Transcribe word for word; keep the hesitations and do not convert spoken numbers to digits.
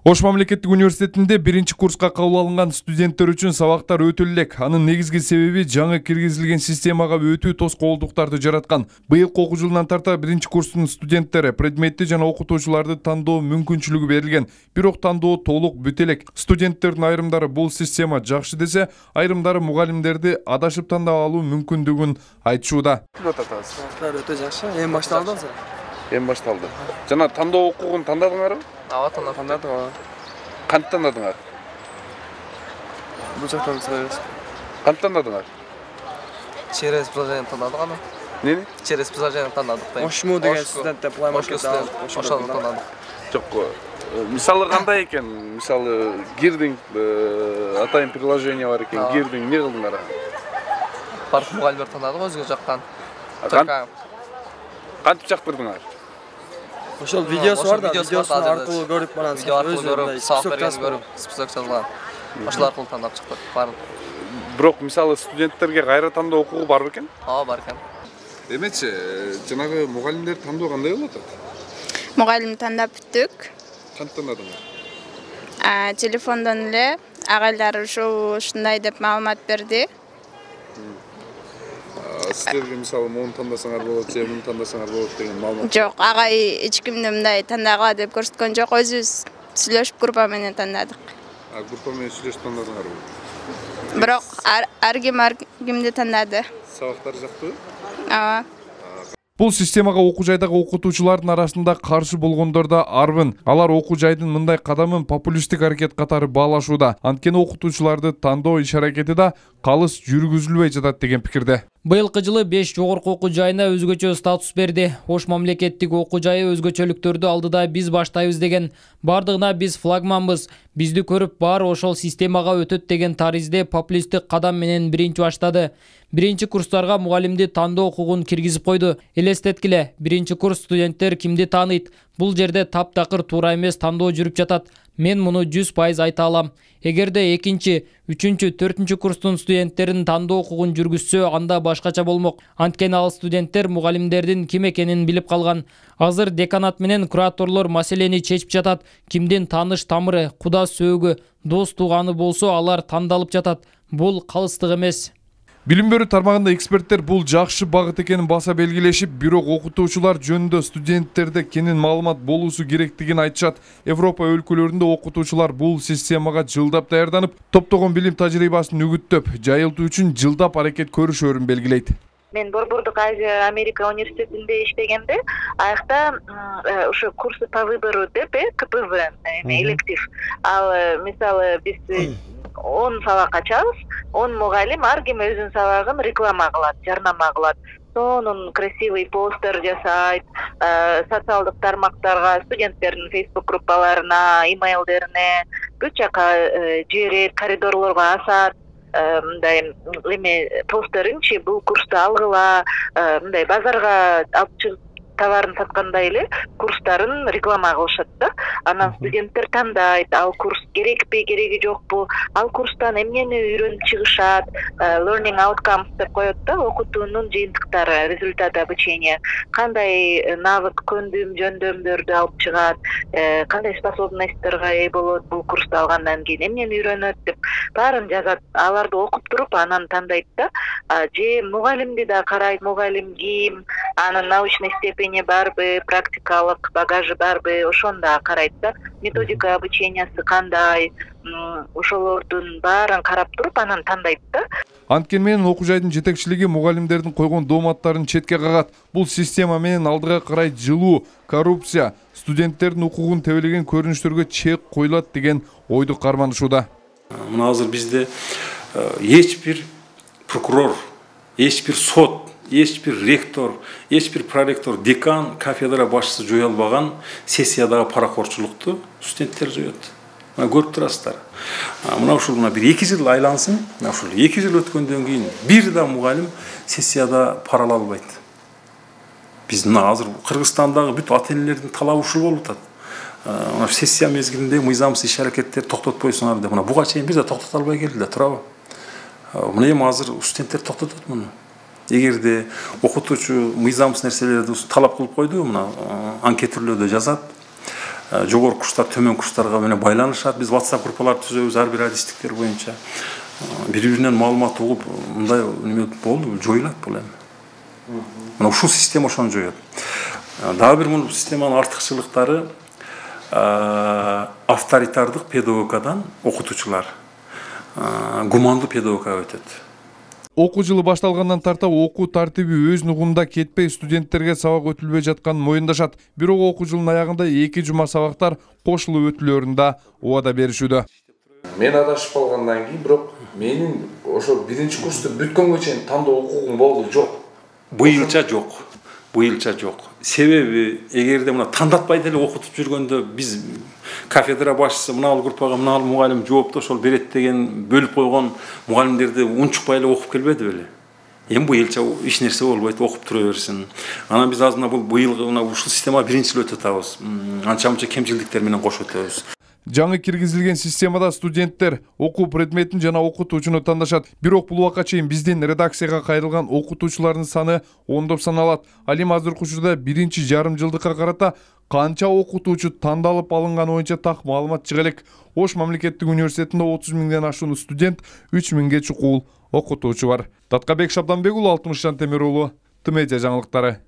Ош мамлекеттик университетинде биринчи курска кабыл алынган студенттер үчүн сабактар өтө элек. Анын негизги себеби жаңы киргизилген системага өтүү тоскоолдуктарды жараткан. Быйылкы окуу жылынан тарта биринчи курстун студенттери предметти жана окутуучуларды тандоо мүмкүнчүлүгү берилген. Бирок тандоо толук бүтө элек. Студенттердин айрымдары бул система жакшы десе, айрымдары мугалимдерди адашып тандап алуу мүмкүндүгүн айтышууда. Өтө жакшы. Эми башталды азыр. Эми башталды. Жана тандоо окугун тандадыңарбы? Ооба, тандадым. Кантип тандадыңар? Бул жактан сырайбыз. Кантип тандадыңар? Через приложение тандадык аны. Нени? Через приложение тандадык. Ошму деген студенттер план маршрутта ошону тандадык. Жок, мисалы кандай экен? Мисалы кирдиң, атайын приложение бар экен, кирдиң, эмне кылдыңар? Барып мугалимдер тандадык өзгө жактан. Кантип чактырдыңар? Ошол видеосу бар да, видеосун аркылуу көрүп барам. Видео аркылуу көрүп, сабак бергенди көрүп, список жазган. Ошол аркылуу тандап чыктык баарын. Бирок мисалы студенттерге кайра тандоо укугу бар бекен? Ооба, бар экен. Эмечи, жанагы мугалимдер тандоо кандай болуп атат? Мугалим тандап бүттүк. Кантип тандадыңар? А, телефондон эле агайлар ушул ушундай деп маалымат берди. Силерге мисалы мону тандасаңар болот, же муну тандасаңар болот деген маалымат? Жок, агай эч кимди мындай тандагыла деп көрсөткөн жок, өзүбүз сүйлөшүп группа менен тандадык. А группа менен сүйлөшүп тандадыңарбы? Бирок ар ким ар кимди тандады. Сабактар жактыбы? Ооба. Бул системага окуу жайдагы окутуучулардын арасында каршы болгондор да арбын. Алар окуу жайдын мындай кадамын популисттик аракет катары баалашууда. Анткени окутуучуларды тандоо иш аракети да калыс жүргүзүлбөй жатат деген пикирде. Быйылкы жылы беш жогорку окуу жайына өзгөчө статус берди. Ош мамлекеттик окуу жайы өзгөчөлүктөрдү алдыда биз баштайбыз деген. Бардыгына биз флагманбыз. Бизди көрүп баары ошол системага өтөт деген таризде популисттик кадам менен биринчи баштады. Биринчи курстарга мугалимди тандоо укугун киргизип койду. Элестеткиле, биринчи курс студенттер кимди тааныйт? Бул жерде таптакыр туура эмес тандоо жүрүп жатат. Мен муну жүз пайыз айта алам. Эгерде экинчи, үчүнчү, төртүнчү курстун студенттерин тандоо укугун жүргүзсө, анда башкача болмок. Анткени ал студенттер мугалимдердин ким экенин билип калган. Азыр деканат менен кураторлор маселени чечип жатат. Кимдин тааныш тамыры, куда сөөгү, дос тууганы болсо, алар тандалып жатат. Бул калыстык эмес. Билим берүү тармагында эксперттер бул жакшы багыт экенин баса белгилешип, бирок окутуучулар жөнүндө студенттерде кенен маалымат болуусу керектигин айтышат. Европа өлкөлөрүндө окутуучулар бул системага жылдап даярданып, топтогон билим тажрыйбасын үгүттөп, жайылтуу үчүн жылдап аракет көрүшөрүн белгилейт. Мен Борбордук Азия Америка университетинде иштегенде, аякта ушу курсы по выбору деп, ка пэ вэ, электив. Ал мисалы биз он сабак ачабыз, он мугалим ар ким өзүнүн сабагын реклама кылат, жарнама кылат. Сонун красивый постер жасайт, социалдык тармактарга, студенттердин фейсбук группаларына, имейлдерине бүт жака жиберет, коридорлорго асат. Мындай эме постеринчи бул курсту алгыла, мындай базарга алып чыгып товарын саткандай эле курстарын реклама кылышат да. Анан студенттер тандайт, ал курс керекпи, кереги жокпу, ал курстан эмнени үйрөнүп чыгышат, learning outcomes деп коет да, окутуунун жыйынтыктары, результаты обучения, кандай навык, көндүм, жөндөмдөрдү алып чыгат, кандай способностьторго ээ болот бул курсту алгандан кийин, эмнени үйрөнөт деп баарын жазат. Аларды окуп туруп анан тандайт да. Же мугалимди да карайт, мугалим ким, анын научный степени барбы, практикалык багажы барбы, ошону да карайт да. Методика обучениясы кандай, ошолордун баарын карап туруп анан тандайт да. Анткени менен окуу жайдын жетекчилиги мугалимдердин койгон дооматтарын четке кагат. Бул система менен алдыга карай жылуу, коррупция, студенттердин укугун тебелеген көрүнүштөргө чек коюлат деген ойду карманышууда. Мына азыр бизде эч бир прокурор, эч бир сот, эч бир ректор, эч бир проректор, декан, кафедра башчысы жое албаган сессиядагы паракорчулукту студенттер жоет. Мына көрүп турасыздар. Мына ушул мына бир эки жыл айлансын, мына ушул эки жыл өткөндөн кийин бир да мугалим сессияда пара ала албайт. Биз мына азыр Кыргызстандагы бүт ата-энелердин талабы ушул болуп атат. Мына сессия мезгилинде мыйзамсыз иш аракеттер токтотпойсуңар деп, мына буга чейин бир да токтото албай келди да, туурабы? Мына эми азыр студенттер токтотот муну. Эгерде окутуучу мыйзамсыз нерселерди талап кылып койду, мына анкет түрлөрдө жазат. жогорку курстар төмөн курстарга менен байланышат. Биз WhatsApp группаларды түзөбүз ар бир адистиктер боюнча. Бири биринен маалымат угуп, мындай неме болду, жоюлат бул эми. Мына ушул система ошону жоет. Дагы бир бул системанын артыкчылыктары авторитардык педагогикадан окутуучулар гумандуу педагогикага өтөт. Окуу жылы башталгандан тарта окуу тартиби өз нугунда кетпей студенттерге сабак өтүлбөй жатканын моюндашат. Бирок окуу жылынын аягында эки жума сабактар кошулуп өтүлөрүн да убада беришүүдө. Мен адашып калгандан кийин бирок менин ошо биринчи курсту бүткөнгө чейин тандоо укугум болду жок. Быйылча жок. Быйылча жок. Себеби эгерде мына тандатпай деле окутуп жүргөндө биз кафедра башчысы мына ал группага мына ал мугалим жоопту ошол берет деген бөлүп койгон мугалимдерди унчукпай эле окуп келбеди беле. Эми быйылча эч нерсе болбойт, окуп тура берсин. Анан биз азыр мына бул быйылгы мына ушул система биринчи жолу өтүп атабыз. Анча-мынча кемчилдиктер менен кошуп өтөбүз. Жаңы киргизилген системада студенттер окуу предметин жана окутуучуну тандашат. Бирок бул убакка чейин биздин редакцияга кайрылган окутуучулардын саны ондоп саналат. Ал эми азыркы учурда биринчи жарым жылдыкка карата канча окутуучу тандалып алынганы боюнча так маалымат чыга элек. Ош мамлекеттик университетинде отуз миңден ашуун студент, үч миңге чукул окутуучу бар. Таткабек Шабданбек уулу, Алтымышжан Темир уулу, Т М Ж жаңылыктары.